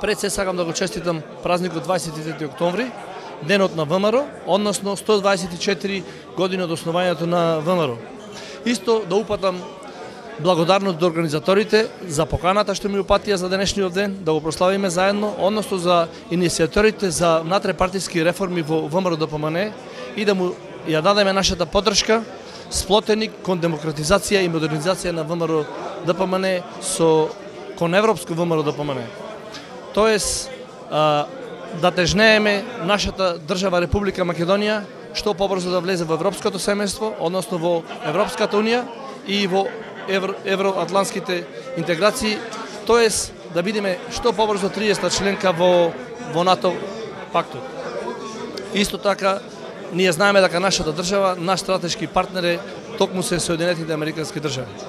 Пред се сакам да го честитам празникот 23 октомври, денот на ВМРО, односно 124 години од основањето на ВМРО. Исто да упатам благодарност до организаторите за поканата што ми упатија за денешниот ден, да го прославиме заедно, односно за иницијаторите за внатре-партиски реформи во ВМРО-ДПМНЕ и да му ја дадеме нашата поддршка сплотени кон демократизација и модернизација на ВМРО-ДПМНЕ кон европско ВМРО-ДПМНЕ. Тоест, да тежнееме нашата држава Република Македонија што побрзо да влезе во европското семејство, односно во Европската унија и во евроатлантските интеграции, тоест да бидеме што побрзо 30-та членка во НАТО пактот. Исто така, ние знаеме дека нашата држава, наш стратешки партнер е токму се Соединетите Американски држави.